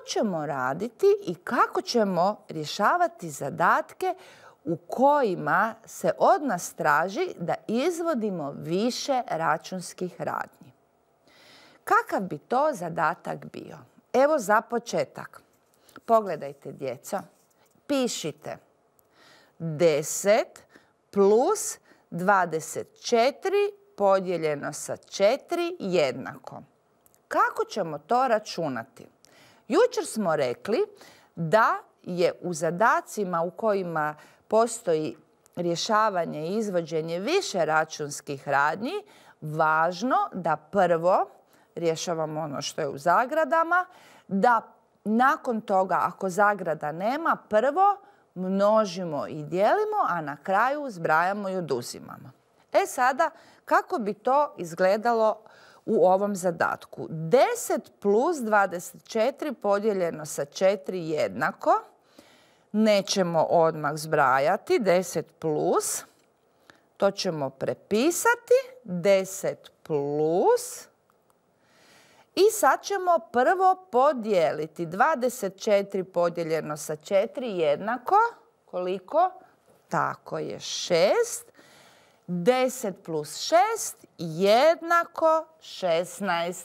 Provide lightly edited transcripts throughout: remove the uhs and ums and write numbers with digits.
ćemo raditi i kako ćemo rješavati zadatke u kojima se od nas traži da izvodimo više računskih radnji. Kakav bi to zadatak bio? Evo za početak. Pogledajte, djeco. Pišite 10 plus 24 podijeljeno sa 4 jednako. Kako ćemo to računati? Jučer smo rekli da je u zadacima u kojima postoji rješavanje i izvođenje više računskih radnji važno da prvo rješavamo ono što je u zagradama, da nakon toga, ako zagrada nema, prvo množimo i dijelimo, a na kraju zbrajamo i oduzimamo. E sada, kako bi to izgledalo u ovom zadatku? 10 plus 24 podijeljeno sa 4 jednako. Nećemo odmah zbrajati. 10 plus, to ćemo prepisati. 10 plus. I sad ćemo prvo podijeliti. 24 podijeljeno sa 4 jednako. Koliko? Tako je 6. 10 plus 6 jednako 16.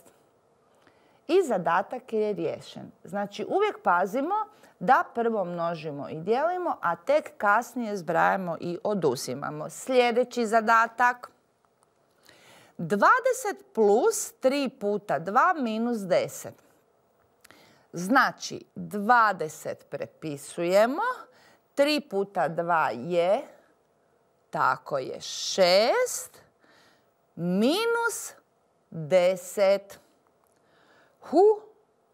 I zadatak je riješen. Znači uvijek pazimo da prvo množimo i dijelimo, a tek kasnije zbrajamo i oduzimamo. Sljedeći zadatak. 20 plus 3 puta 2 minus 10. Znači 20 prepisujemo. 3 puta 2 je, tako je 6, minus 10.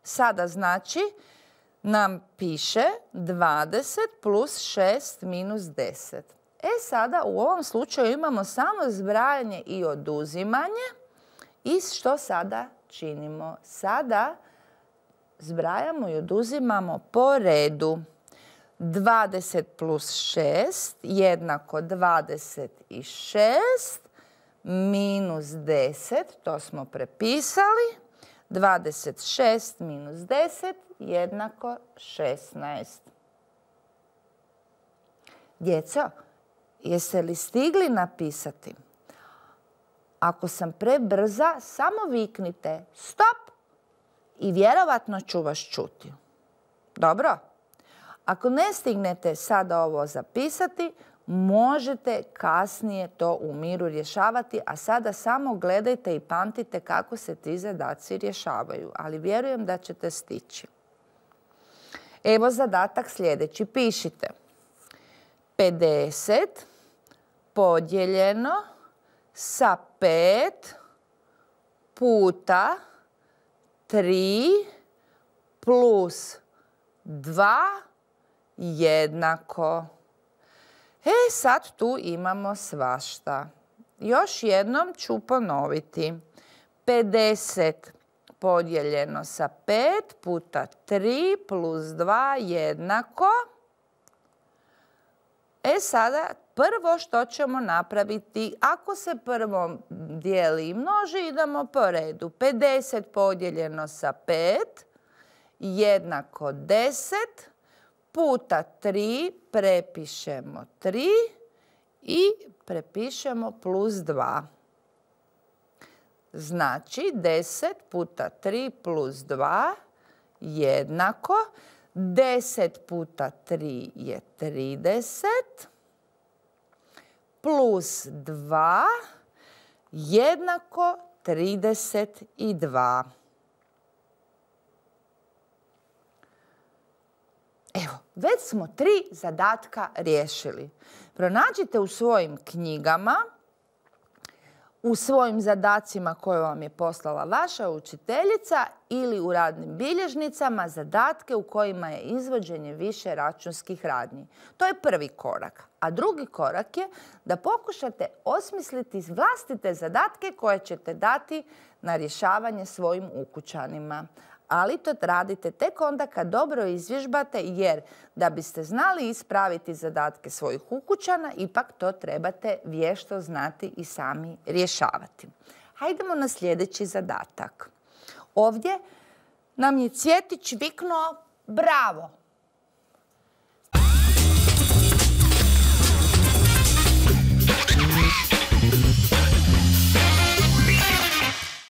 Sada znači nam piše 20 plus 6 minus 10. E sada u ovom slučaju imamo samo zbrajanje i oduzimanje. I što sada činimo? Sada zbrajamo i oduzimamo po redu. 20 plus 6 jednako 26 minus 10, to smo prepisali. 26 minus 10 jednako 16. Djeco, jeste li stigli napisati? Ako sam prebrza, samo viknite stop i vjerovatno ću vas čuti. Dobro? Ako ne stignete sada ovo zapisati, možete kasnije to u miru rješavati, a sada samo gledajte i pamtite kako se ti zadaci rješavaju, ali vjerujem da ćete stići. Evo zadatak sljedeći. Pišite 50 podijeljeno sa 5 puta 3 plus 2 jednako. E sad tu imamo svašta. Još jednom ću ponoviti. 50 podijeljeno sa 5 puta 3 plus 2 jednako. E sada prvo što ćemo napraviti, ako se prvo dijeli i množi, idemo po redu. 50 podijeljeno sa 5 jednako 10 puta 3 prepišemo 3 i prepišemo plus 2. Znači 10 puta 3 plus 2 jednako 10 puta 3 je 30 plus 2 jednako 32. Evo, već smo 3 zadatka riješili. Pronađite u svojim knjigama, u svojim zadacima koje vam je poslala vaša učiteljica ili u radnim bilježnicama zadatke u kojima je izvođenje više računskih radnji. To je prvi korak. A drugi korak je da pokušate osmisliti vlastite zadatke koje ćete dati na rješavanje svojim ukućanima. Ali to radite tek onda kad dobro izvježbate, jer da biste znali ispraviti zadatke svojih ukućana, ipak to trebate vješto znati i sami rješavati. Hajdemo na sljedeći zadatak. Ovdje nam je Cvjetić viknuo bravo.